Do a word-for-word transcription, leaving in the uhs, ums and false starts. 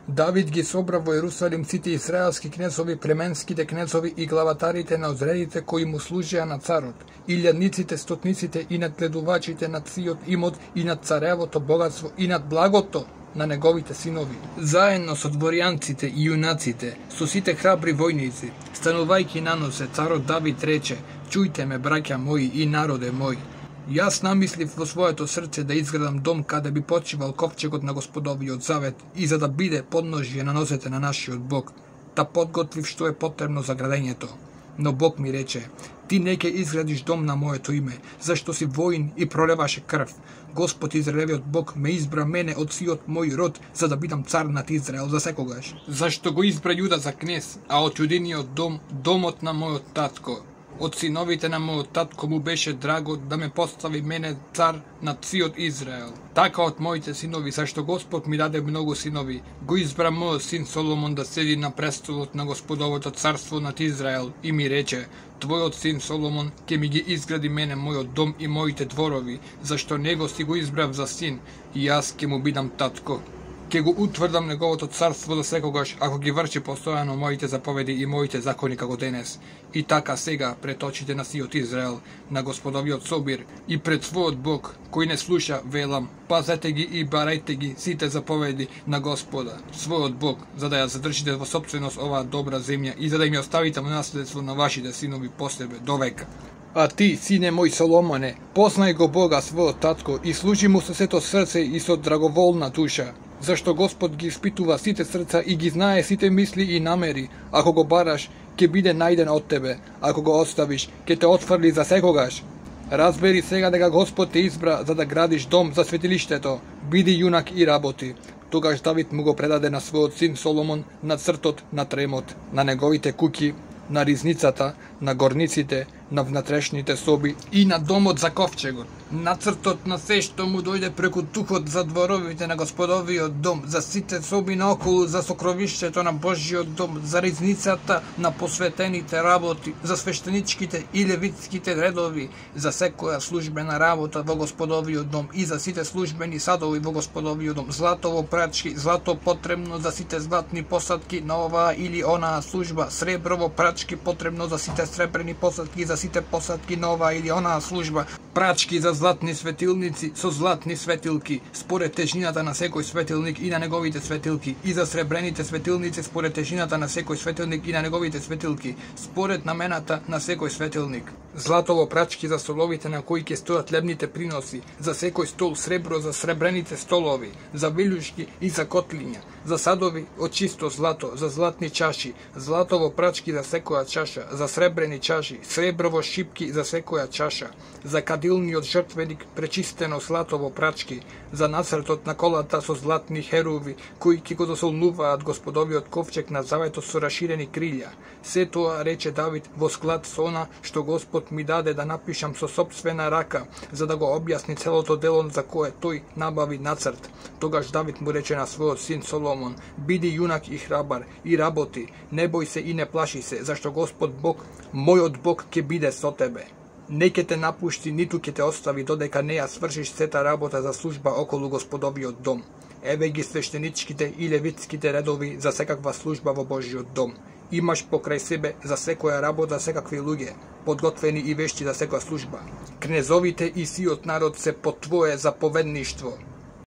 Давид ги собра во Ерусалим сите израелски кнезови, племенските кнезови и главатарите на одредите кои му служеа на царот, илјадниците, стотниците и надгледувачите над сиот имот и над царевото богатство и над благото на неговите синови. Заедно со дворјанците и јунаците, со сите храбри војници, станувајќи на носе, царот Давид рече: "Чујте ме, браќа мои и народе мој. Јас намислив во своето срце да изградам дом каде би почивал ковчегот на Господовиот завет и за да биде подножје на носете на нашиот Бог, та подготвив што е потребно за градењето. Но Бог ми рече: ти не ќе изградиш дом на моето име, зашто си воин и пролеваше крв. Господ Израелевиот Бог ме избра мене од сиот мој род, за да бидам цар над Израел за секогаш. Зашто го избра Јуда за кнез, а од јудиниот дом, домот на мојот татко. Од синовите на мојот татко му беше драго да ме постави мене цар над сиот Израел. Така од моите синови, зашто Господ ми даде многу синови, го избра мојот син Соломон да седи на престолот на Господовото царство над Израел и ми рече: твојот син Соломон ќе ми ги изгради мене мојот дом и моите дворови, зашто него си го избрав за син и јас ќе му бидам татко. Ке го утврдам неговото царство за секогаш, ако ги врши постојано моите заповеди и моите закони како денес. И така сега, пред очите на сиот Израел, на Господовиот собир и пред својот Бог, кој не слуша, велам: пазете ги и барајте ги сите заповеди на Господа, својот Бог, за да ја задржите во собственост оваа добра земја и за да им ја оставите во наследство на вашите синови по себе до века. А ти, сине мој Соломоне, познај го Бога својот татко и служи му со сето срце и со драговолна душа, зашто Господ ги испитува сите срца и ги знае сите мисли и намери. Ако го бараш, ќе биде најден од тебе, ако го оставиш, ќе те отфрли за секогаш. Разбери сега дека Господ те избра за да градиш дом за светилиштето, биди јунак и работи. Тогаш Давид му го предаде на својот син Соломон нацртот на тремот, на неговите куќи, на ризницата, на горниците, на внатрешните соби и на домот за ковчегот. Нацртот на се што му дојде преку духот за дворовите на Господовиот дом, за сите соби наоколу, за сокровишчето на Божјиот дом, за ризницата на посветените работи, за свештеничките и левитските редови, за секоја службена работа во Господовиот дом и за сите службени садови во Господовиот дом, злато во прачки, злато потребно за сите златни посадки на оваа или онаа служба, сребро во прачки потребно за сите сребрени посадки, за сите посадки на оваа или онаа служба, прачки за златни светилници со златни светилки, според тежината на секој светилник и на неговите светилки, и за сребрените светилници според тежината на секој светилник и на неговите светилки, според намената на секој светилник. Златово прачки за столовите на кои ќе стојат лебните приноси, за секој стол, сребро за сребрените столови, за вилушки и за котлиња, за садови од чисто злато, за златни чаши, златово прачки за секоја чаша, за сребрени чаши, среброво шипки за секоја чаша, за кадилниот жртвеник пречистено златово прачки, за нацртот на колата со златни херуви, кои ќе го досолнуваат Господовиот ковчег на заветот со раширени крилја. Се тоа рече Давид во склад со она што Господ ми даде да напишам со собствена рака, за да го објасни целото дело за кое тој набави нацрт. Тогаш Давид му рече на својот син Соломон: биди јунак и храбар и работи, не бој се и не плаши се, зашто Господ Бог, мојот Бог, ќе биде со тебе. Не ќе те напушти, ниту ќе те остави, додека не ја свршиш сета работа за служба околу Господовиот дом. Еве ги свештеничките и левитските редови за секаква служба во Божјиот дом. Имаш покрај себе за секоја работа секакви луѓе, подготвени и вешти за секоја служба. Кнезовите и сиот народ се под твое заповедништво.